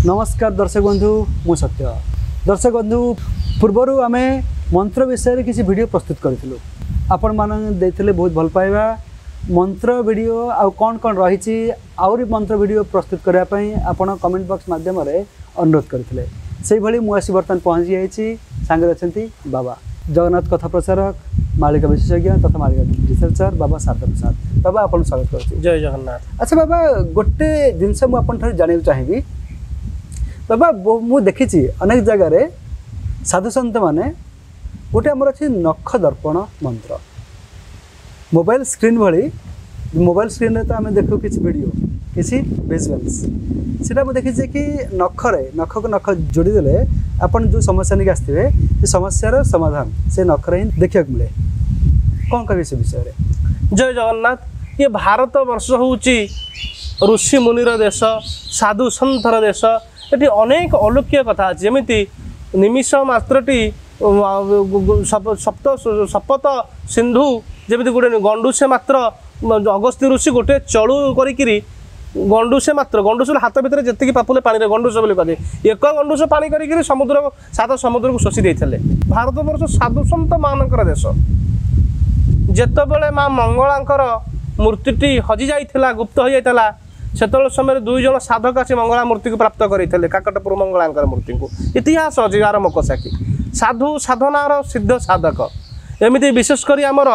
ନମସ୍କାର ଦର୍ଶକ ବନ୍ଧୁ, ମୁଁ ସତ୍ୟ। ଦର୍ଶକ ବନ୍ଧୁ, ପୂର୍ବରୁ ଆମେ ମନ୍ତ୍ର ବିଷୟରେ କିଛି ଭିଡ଼ିଓ ପ୍ରସ୍ତୁତ କରିଥିଲୁ। ଆପଣମାନେ ଦେଇଥିଲେ ବହୁତ ଭଲ ପାଇବା। ମନ୍ତ୍ର ଭିଡ଼ିଓ ଆଉ କ'ଣ କ'ଣ ରହିଛି, ଆହୁରି ମନ୍ତ୍ର ଭିଡ଼ିଓ ପ୍ରସ୍ତୁତ କରିବା ପାଇଁ ଆପଣ କମେଣ୍ଟ ବକ୍ସ ମାଧ୍ୟମରେ ଅନୁରୋଧ କରିଥିଲେ। ସେଇଭଳି ମୁଁ ଆସି ବର୍ତ୍ତମାନ ପହଞ୍ଚି ଯାଇଛି। ସାଙ୍ଗରେ ଅଛନ୍ତି ବାବା ଜଗନ୍ନାଥ କଥା ପ୍ରଚାରକ, ମାଳିକା ବିଶେଷଜ୍ଞ ତଥା ମାଳିକା ରିସର୍ଚ୍ଚର ବାବା ଶାରଦା ପ୍ରସାଦ। ବାବା, ଆପଣଙ୍କୁ ସ୍ୱାଗତ କରୁଛି। ଜୟ ଜଗନ୍ନାଥ। ଆଚ୍ଛା ବାବା, ଗୋଟେ ଜିନିଷ ମୁଁ ଆପଣଙ୍କ ଠାରୁ ଜାଣିବାକୁ ଚାହିଁବି। ବାବା, ମୁଁ ଦେଖିଛି ଅନେକ ଜାଗାରେ ସାଧୁସନ୍ଥମାନେ ଗୋଟେ ଆମର ଅଛି ନଖ ଦର୍ପଣ ମନ୍ତ୍ର, ମୋବାଇଲ ସ୍କ୍ରିନ୍ ଭଳି। ମୋବାଇଲ ସ୍କ୍ରିନ୍ରେ ତ ଆମେ ଦେଖୁ କିଛି ଭିଡ଼ିଓ, କିଛି ଭିଜୁଆଲ୍ସ। ସେଇଟା ମୁଁ ଦେଖିଛି କି ନଖରେ ନଖକୁ ନଖ ଯୋଡ଼ିଦେଲେ ଆପଣ ଯେଉଁ ସମସ୍ୟା ନେଇକି ଆସିଥିବେ, ସେ ସମସ୍ୟାର ସମାଧାନ ସେ ନଖରେ ହିଁ ଦେଖିବାକୁ ମିଳେ। କ'ଣ କହିବେ ସେ ବିଷୟରେ? ଜୟ ଜଗନ୍ନାଥ। ଇଏ ଭାରତ ବର୍ଷ ହେଉଛି ଋଷି ମୁନିର ଦେଶ, ସାଧୁ ସନ୍ଥର ଦେଶ। ଏଠି ଅନେକ ଅଲୌକିକ କଥା ଅଛି। ଯେମିତି ନିମିଷ ମାତ୍ରଟି ସପ୍ତ ସପତ ସିନ୍ଧୁ, ଯେମିତି ଗୋଟେ ଗଣ୍ଡୁସେ ମାତ୍ର ଅଗସ୍ତ୍ୟ ଋଷି ଗୋଟେ ଚଳୁ କରିକିରି ଗଣ୍ଡୁସେ ମାତ୍ର, ଗଣ୍ଡୁସ ହାତ ଭିତରେ ଯେତିକି ପାପୁଲେ ପାଣିରେ ଗଣ୍ଡୁସ ବୋଲି କୁହାଯାଏ, ଏକ ଗଣ୍ଡୁସ ପାଣି କରିକିରି ସମୁଦ୍ର ସାତ ସମୁଦ୍ରକୁ ଶୋଷି ଦେଇଥିଲେ। ଭାରତବର୍ଷ ସାଧୁସନ୍ଥ ମାନଙ୍କର ଦେଶ। ଯେତେବେଳେ ମା ମଙ୍ଗଳାଙ୍କର ମୂର୍ତ୍ତିଟି ହଜି ଯାଇଥିଲା, ଗୁପ୍ତ ହୋଇଯାଇଥିଲା, ସେତେବେଳେ ସମୟରେ ଦୁଇ ଜଣ ସାଧକ ଆସି ମଙ୍ଗଳା ମୂର୍ତ୍ତିକୁ ପ୍ରାପ୍ତ କରିଥିଲେ, କାକଟପୁର ମଙ୍ଗଳାଙ୍କର ମୂର୍ତ୍ତିକୁ। ଇତିହାସ ଅଛି ଆର ମକସାକି ସାଧୁ ସାଧନାର ସିଦ୍ଧ ସାଧକ। ଏମିତି ବିଶେଷ କରି ଆମର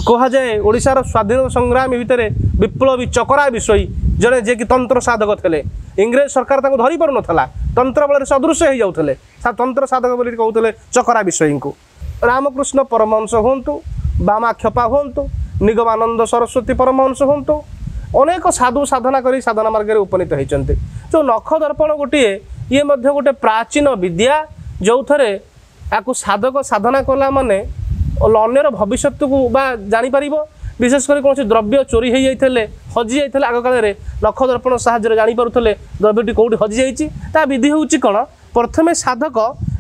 କୁହାଯାଏ ଓଡ଼ିଶାର ସ୍ୱାଧୀନତା ସଂଗ୍ରାମୀ ଭିତରେ ବିପ୍ଳବୀ ଚକରା ବିଷୋୟୀ ଜଣେ, ଯିଏକି ତନ୍ତ୍ର ସାଧକ ଥିଲେ। ଇଂରେଜ ସରକାର ତାଙ୍କୁ ଧରି ପାରୁନଥିଲା, ତନ୍ତ୍ର ବଳରେ ସଦୃଶ୍ୟ ହେଇଯାଉଥିଲେ। ତନ୍ତ୍ର ସାଧକ ବୋଲି କହୁଥିଲେ ଚକରା ବିଷୋୟୀଙ୍କୁ। ରାମକୃଷ୍ଣ ପରମହଂସ ହୁଅନ୍ତୁ, ବାମା କ୍ଷପା ହୁଅନ୍ତୁ, ନିଗମାନନ୍ଦ ସରସ୍ୱତୀ ପରମହଂସ ହୁଅନ୍ତୁ, ଅନେକ ସାଧୁ ସାଧନା କରି ସାଧନା ମାର୍ଗରେ ଉପନୀତ ହେଇଛନ୍ତି। ଯେଉଁ ନଖ ଦର୍ପଣ ଗୋଟିଏ, ଇଏ ମଧ୍ୟ ଗୋଟେ ପ୍ରାଚୀନ ବିଦ୍ୟା, ଯେଉଁଥିରେ ଆକୁ ସାଧକ ସାଧନା କଲା ମାନେ ଅନ୍ୟର ଭବିଷ୍ୟତକୁ ବା ଜାଣିପାରିବ। ବିଶେଷ କରି କୌଣସି ଦ୍ରବ୍ୟ ଚୋରି ହେଇଯାଇଥିଲେ, ହଜି ଯାଇଥିଲେ, ଆଗକାଳରେ ନଖ ଦର୍ପଣ ସାହାଯ୍ୟରେ ଜାଣିପାରୁଥିଲେ ଦ୍ରବ୍ୟଟି କେଉଁଠି ହଜିଯାଇଛି। ତା ବିଧି ହେଉଛି କ'ଣ? ପ୍ରଥମେ ସାଧକ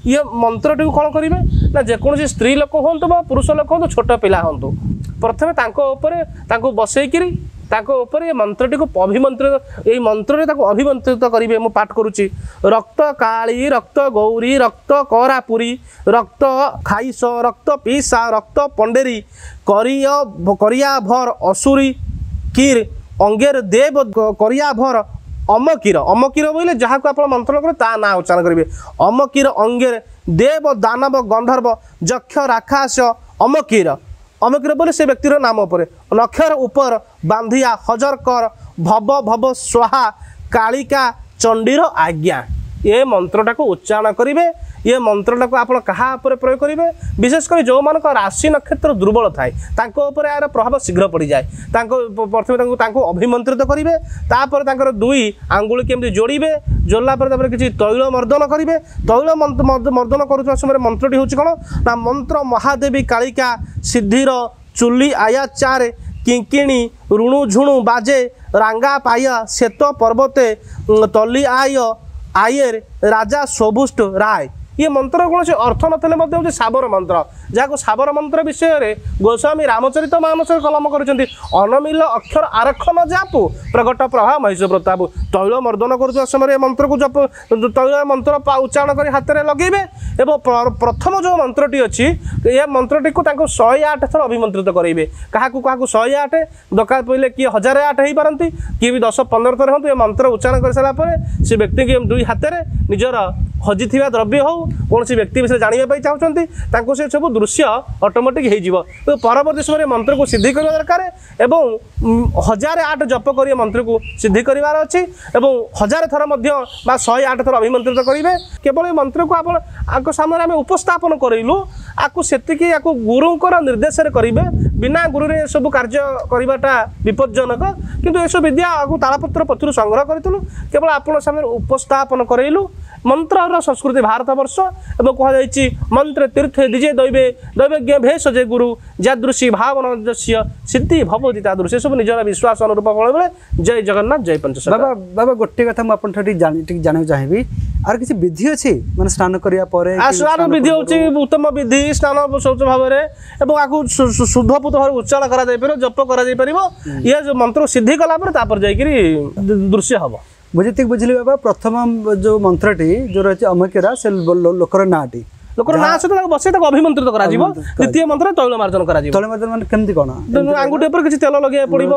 ଇଏ ମନ୍ତ୍ରଟିକୁ କ'ଣ କରିବେ ନା, ଯେକୌଣସି ସ୍ତ୍ରୀ ଲୋକ ହୁଅନ୍ତୁ ବା ପୁରୁଷ ଲୋକ ହୁଅନ୍ତୁ, ଛୋଟ ପିଲା ହୁଅନ୍ତୁ, ପ୍ରଥମେ ତାଙ୍କ ଉପରେ ତାଙ୍କୁ ବସେଇକିରି ତାଙ୍କ ଉପରେ ଏ ମନ୍ତ୍ରଟିକୁ ଅଭିମନ୍ତ୍ରିତ, ଏଇ ମନ୍ତ୍ରରେ ତାକୁ ଅଭିମନ୍ତ୍ରିତ କରିବେ। ମୁଁ ପାଠ କରୁଛି। ରକ୍ତ କାଳୀ, ରକ୍ତ ଗୌରୀ, ରକ୍ତ କରାପୁରୀ, ରକ୍ତ ଖାଇସ, ରକ୍ତ ପିସା, ରକ୍ତ ପଣ୍ଡେରୀ, କରିୟ କରିଆଭର ଅସୁରୀ କିର ଅଙ୍ଗେର ଦେବ କରିଆଭର ଅମକିର। ଅମକିର ବୋଇଲେ ଯାହାକୁ ଆପଣ ମନ୍ତ୍ର କରିବେ ତା ନାଁ ଉଚ୍ଚାରଣ କରିବେ। ଅମକିର ଅଙ୍ଗେର ଦେବ ଦାନବ ଗନ୍ଧର୍ବ ଯକ୍ଷ ରାକ୍ଷସ ଅମକିର। ଅମକିର ବୋଲେ ସେ ବ୍ୟକ୍ତିର ନାମ ଉପରେ ନକ୍ଷର ଉପର ବାନ୍ଧିଆ ହଜର କର ଭବ ଭବ ସ୍ୱାହା କାଳିକା ଚଣ୍ଡୀର ଆଜ୍ଞା। ଏ ମନ୍ତ୍ରଟାକୁ ଉଚ୍ଚାରଣ କରିବେ। ଏ ମନ୍ତ୍ରଟାକୁ ଆପଣ କାହା ଉପରେ ପ୍ରୟୋଗ କରିବେ? ବିଶେଷ କରି ଯେଉଁମାନଙ୍କ ରାଶି ନକ୍ଷତ୍ର ଦୁର୍ବଳ ଥାଏ, ତାଙ୍କ ଉପରେ ଏହାର ପ୍ରଭାବ ଶୀଘ୍ର ପଡ଼ିଯାଏ। ତାଙ୍କ ପ୍ରଥମେ ତାଙ୍କୁ ଅଭିମନ୍ତ୍ରିତ କରିବେ, ତାପରେ ତାଙ୍କର ଦୁଇ ଆଙ୍ଗୁଳି କେମିତି ଯୋଡ଼ିବେ, ଯୋଡ଼ିଲା ପରେ ତାପରେ କିଛି ତୈଳ ମର୍ଦ୍ଦନ କରିବେ। ତୈଳ ମର୍ଦ୍ଦନ କରୁଥିବା ସମୟରେ ମନ୍ତ୍ରଟି ହେଉଛି କ'ଣ ନା, ମନ୍ତ୍ର ମହାଦେବୀ କାଳିକା ସିଦ୍ଧିର ଚୁଲି ଆୟା ଚାରେ କିଙ୍କିଣି ରୁଣୁ ଝୁଣୁ ବାଜେ ରାଙ୍ଗା ପାୟା ଶ୍ଵେତ ପର୍ବତେ ତଲି ଆୟ ଆୟେର ରାଜା ସବୁଷ୍ଟ ରାୟ। ଇଏ ମନ୍ତ୍ର କୌଣସି ଅର୍ଥ ନଥିଲେ ମଧ୍ୟ ହେଉଛି ସାବର ମନ୍ତ୍ର, ଯାହାକୁ ସାବର ମନ୍ତ୍ର ବିଷୟରେ ଗୋସ୍ୱାମୀ ରାମଚରିତ ମାନସରେ କଲମ କରିଛନ୍ତି। ଅନମିଲ ଅକ୍ଷର ଆରକ୍ଷଣ ଜାପୁ ପ୍ରଗଟ ପ୍ରଭା ମହିଷ ପ୍ରତାପ। ତୈଳ ମର୍ଦ୍ଦନ କରୁଥିବା ସମୟରେ ଏ ମନ୍ତ୍ରକୁ ଜପ, ତୈଳ ମନ୍ତ୍ର ଉଚ୍ଚାରଣ କରି ହାତରେ ଲଗେଇବେ ଏବଂ ପ୍ରଥମ ଯେଉଁ ମନ୍ତ୍ରଟି ଅଛି, ଏ ମନ୍ତ୍ରଟିକୁ ତାଙ୍କୁ 108 ଥର ଅଭିମନ୍ତ୍ରିତ କରାଇବେ। କାହାକୁ କାହାକୁ 108 ଦରକାର ପଡ଼ିଲେ କିଏ 1008 ହେଇପାରନ୍ତି, କିଏ ବି 10 15 ଥର ହୁଅନ୍ତୁ। ଏ ମନ୍ତ୍ର ଉଚ୍ଚାରଣ କରିସାରିଲା ପରେ ସେ ବ୍ୟକ୍ତିଙ୍କୁ ଦୁଇ ହାତରେ ନିଜର ହଜିଥିବା ଦ୍ରବ୍ୟ ହେଉ, କୌଣସି ବ୍ୟକ୍ତି ବିଷୟରେ ଜାଣିବା ପାଇଁ ଚାହୁଁଛନ୍ତି, ତାଙ୍କୁ ସେ ସବୁ ଦୃଶ୍ୟ ଅଟୋମେଟିକ୍ ହେଇଯିବ। ପରବର୍ତ୍ତୀ ସମୟରେ ମନ୍ତ୍ରକୁ ସିଦ୍ଧି କରିବା ଦରକାର ଏବଂ 1008 ଜପ କରି ମନ୍ତ୍ରକୁ ସିଦ୍ଧି କରିବାର ଅଛି ଏବଂ 1000 ଥର ମଧ୍ୟ ବା 108 ଥର ଅଭିମନ୍ତ୍ରିତ କରିବେ। କେବଳ ଏ ମନ୍ତ୍ରକୁ ଆପଣ ଆଙ୍କ ସାମ୍ନାରେ ଆମେ ଉପସ୍ଥାପନ କରାଇଲୁ, ଆକୁ ସେତିକି ଆକୁ ଗୁରୁଙ୍କର ନିର୍ଦ୍ଦେଶରେ କରିବେ। ବିନା ଗୁରୁରେ ଏସବୁ କାର୍ଯ୍ୟ କରିବାଟା ବିପଜ୍ଜନକ। କିନ୍ତୁ ଏସବୁ ବିଦ୍ୟା ଆକୁ ତାଳପତ୍ର ପଥରୁ ସଂଗ୍ରହ କରିଥିଲୁ, କେବଳ ଆପଣଙ୍କ ସାମ୍ନାରେ ଉପସ୍ଥାପନ କରାଇଲୁ। ମନ୍ତ୍ରର ସଂସ୍କୃତି ଭାରତବର୍ଷ ଏବଂ କୁହାଯାଇଛି ମନ୍ତ୍ର ତୀର୍ଥେ ଦ୍ୱିଜେ ଦୈବେ ଦୈବଜ୍ଞ ଭେଷଜେ ଗୁରୁ ଯାଦୃଶୀ ଭାବନ ଯସ୍ୟ ସିଦ୍ଧି ଭବତି ତାଦୃଶ। ଏସବୁ ନିଜର ବିଶ୍ୱାସ ଅନୁରୂପ ଫଳ ମିଳେ। ଜୟ ଜଗନ୍ନାଥ, ଜୟ ପଞ୍ଚସଖା। ବାବା, ବାବା, ଗୋଟେ କଥା ମୁଁ ଆପଣଙ୍କ ଠାରୁ ଟିକେ ଜାଣିବାକୁ ଚାହିଁବି, ଆଉ କିଛି ବିଧି ଅଛି ମାନେ ସ୍ନାନ କରିବା ପରେ? ସ୍ନାନ ବିଧି ହେଉଛି ଉତ୍ତମ ବିଧି, ସ୍ନାନ ଶୌଚ ଭାବରେ ଏବଂ ଆକୁ ଶୁଦ୍ଧପୁତ ଭାବରେ ଉଚ୍ଚାରଣ କରାଯାଇପାରିବ, ଜପ କରାଯାଇପାରିବ। ଇଏ ଯୋଉ ମନ୍ତ୍ର ସିଦ୍ଧି କଲା ପରେ ତାପରେ ଯାଇକିରି ଦୃଶ୍ୟ ହବ। ମୁଁ ଯେତିକି ବୁଝିଲି ବାବା, ପ୍ରଥମ ଯୋଉ ମନ୍ତ୍ରଟି ଯୋଉ ରହିଛି ଅମକେରା, ସେ ଲୋକର ନାଁଟି, ଲୋକର ନାଁ ସହିତ ତାକୁ ବସେଇ ତାକୁ ଅଭିମନ୍ତ୍ରିତ କରାଯିବ। ଦ୍ୱିତୀୟ ମନ୍ତ୍ର ତୈଳ ମାର୍ଜନ କରାଯିବ। ତୈଳ ମାର୍ଜନ ମାନେ କେମିତି କ'ଣ? ଆଙ୍ଗୁଠି ଉପରେ କିଛି ତେଲ ଲଗେଇବାକୁ ପଡିବ,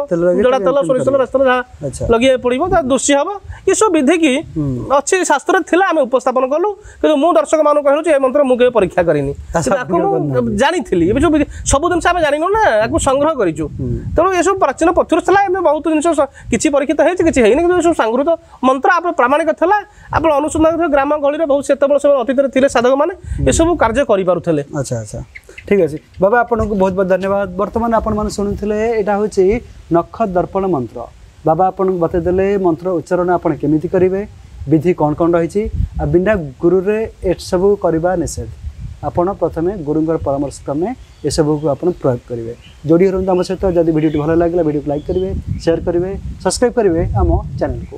ଜଡ଼ା ତେଲ, ସୋରିଷ ତେଲ, ରାସ୍ତା ଯାହା ଲଗେଇବାକୁ ପଡିବ, ତା ଦୃଶ୍ୟ ହବ। ଏସବୁ ବିଧିକି ଅଛି, ଶାସ୍ତ୍ରରେ ଥିଲା, ଆମେ ଉପସ୍ଥାପନ କଲୁ। କିନ୍ତୁ ମୁଁ ଦର୍ଶକ ମାନଙ୍କୁ କହିଲୁ ଯେ ଏ ମନ୍ତ୍ର ମୁଁ କେବେ ପରୀକ୍ଷା କରିନି, ତାକୁ ମୁଁ ଜାଣିଥିଲି। ଏବେ ସବୁ ସବୁ ଜିନିଷ ଆମେ ଜାଣିନୁ ନା, ୟାକୁ ସଂଗ୍ରହ କରିଛୁ। ତେଣୁ ଏସବୁ ପ୍ରାଚୀନ ପଥରୁ ଥିଲା। ଏବେ ବହୁତ ଜିନିଷ କିଛି ପରୀକ୍ଷିତ ହେଇଛି, କିଛି ହେଇନି, କିନ୍ତୁ ଏସବୁ ସଂଗୃହୀତ ମନ୍ତ୍ର ଆପଣ ପ୍ରାମାଣିକ ଥିଲା। ଆପଣ ଅନୁସନ୍ଧାନ, ଗ୍ରାମ ଗହଳିରେ ବହୁତ ସେତେବେଳେ ସେମାନେ ଅତୀତରେ ଥିଲେ ସାଧକମାନେ, ଏସବୁ କାର୍ଯ୍ୟ କରିପାରୁଥିଲେ। ଆଚ୍ଛା ଆଚ୍ଛା, ଠିକ୍ ଅଛି ବାବା, ଆପଣଙ୍କୁ ବହୁତ ବହୁତ ଧନ୍ୟବାଦ। ବର୍ତ୍ତମାନ ଆପଣମାନେ ଶୁଣୁଥିଲେ ଏଇଟା ହେଉଛି ନଖ ଦର୍ପଣ ମନ୍ତ୍ର। ବାବା ଆପଣଙ୍କୁ ବତେଇଦେଲେ ମନ୍ତ୍ର ଉଚ୍ଚାରଣ ଆପଣ କେମିତି କରିବେ, ବିଧି କ'ଣ କ'ଣ ରହିଛି, ଆଉ ବିନା ଗୁରୁରେ ଏସବୁ କରିବା ନିଷେଧ। ଆପଣ ପ୍ରଥମେ ଗୁରୁଙ୍କର ପରାମର୍ଶ କ୍ରମେ ଏସବୁକୁ ଆପଣ ପ୍ରୟୋଗ କରିବେ। ଯୋଡ଼ି ରୁହନ୍ତୁ ଆମ ସହିତ। ଯଦି ଭିଡ଼ିଓଟି ଭଲ ଲାଗିଲା, ଭିଡ଼ିଓକୁ ଲାଇକ୍ କରିବେ, ସେୟାର କରିବେ, ସବସ୍କ୍ରାଇବ୍ କରିବେ ଆମ ଚ୍ୟାନେଲକୁ।